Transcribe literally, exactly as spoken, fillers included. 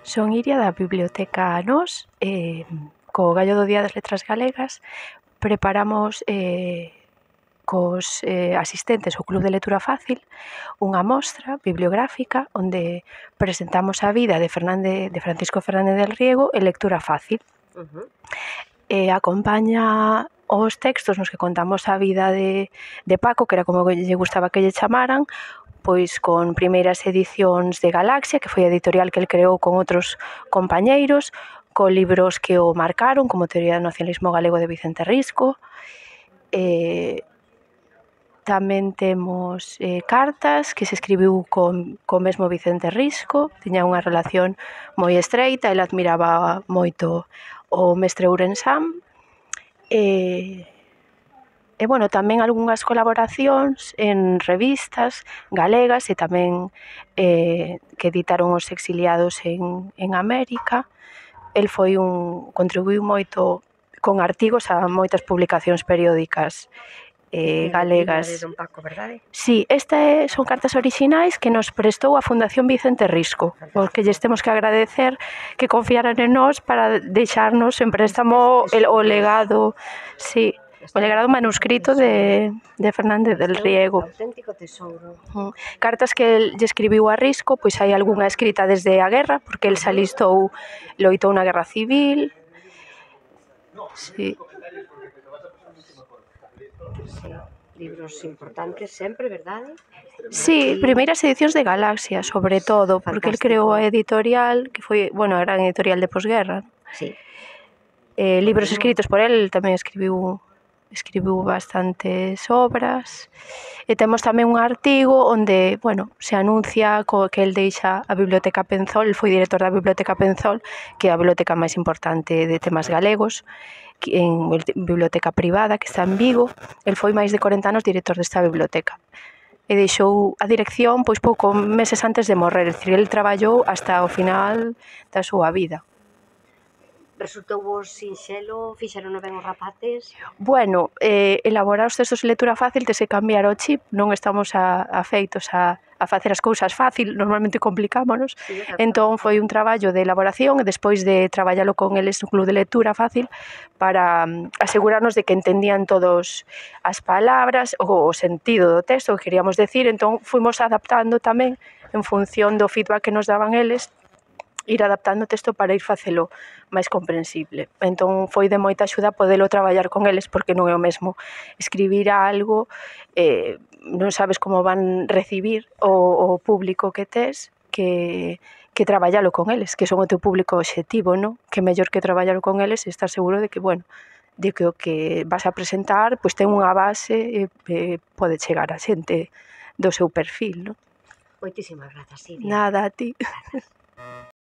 Son Iria da Biblioteca Nós, e co gallo do Día das Letras Galegas preparamos eh, cos eh, asistentes ao Club de Lectura Fácil unha mostra bibliográfica onde presentamos a vida de, Fernández, de Francisco Fernández del Riego en lectura fácil. Uh-huh. E acompaña os textos nos que contamos a vida de, de Paco, que era como lle gustaba que lle chamaran, pois con primeiras edicións de Galaxia, que foi a editorial que el creou con outros compañeiros, con libros que o marcaron, como Teoría do Nacionalismo Galego de Vicente Risco. Eh, tamén temos eh, cartas que se escribiu con, con mesmo Vicente Risco, tiña unha relación moi estreita, el admiraba moito o mestre Ourensán. E... E, bueno, tamén algunhas colaboracións en revistas galegas e tamén eh, que editaron os exiliados en, en América. El foi un, contribuiu moito con artigos a moitas publicacións periódicas eh, galegas. De Don Paco, verdade? Sí, estas son cartas orixinais que nos prestou a Fundación Vicente Risco, porque lles temos que agradecer que confiaran en nós para deixarnos en préstamo el, o legado, sí, o legado manuscrito de, de Fernández del Riego. Auténtico tesouro. Cartas que el lle escribiu a Risco, pois hai algunha escrita desde a guerra, porque el se alistou, loitou na guerra civil. Sí. Sí, libros importantes sempre, verdade? Sí, primeiras edicións de Galaxia, sobre todo, porque el creou a editorial, que foi, bueno, a gran editorial de posguerra. Sí. Eh, libros escritos por el, tamén escribiu escribiu bastantes obras. E temos tamén un artigo onde, bueno, se anuncia co que el deixa a Biblioteca Penzol, el foi director da Biblioteca Penzol, que é a biblioteca máis importante de temas galegos, en biblioteca privada que está en Vigo. El foi máis de corenta anos director desta biblioteca e deixou a dirección pois pouco meses antes de morrer, é dicir, el traballou hasta o final da súa vida. Resultou vos sinxelo, fixeron ben os rapaces? Bueno, eh, elaborar os textos de lectura fácil tes que cambiar o chip, non estamos a, a feitos a, a facer as cousas fácil, normalmente complicámonos, Sí, entón foi un traballo de elaboración e despois de traballalo con eles no Club de Lectura Fácil para um, asegurarnos de que entendían todos as palabras, o, o sentido do texto que queríamos decir, entón fuimos adaptando tamén en función do feedback que nos daban eles, ir adaptando o texto para ir facelo máis comprensible. Entón foi de moita axuda podelo traballar con eles, porque non é o mesmo escribir algo, eh, non sabes como van recibir o, o público que tes, que, que traballalo con eles, que son o teu público obxectivo, non? Que mellor que traballalo con eles e estar seguro de que, bueno, de que o que vas a presentar pois ten unha base e eh, pode chegar a xente do seu perfil, non? Moitísimas grazas, Iria. Nada, a ti.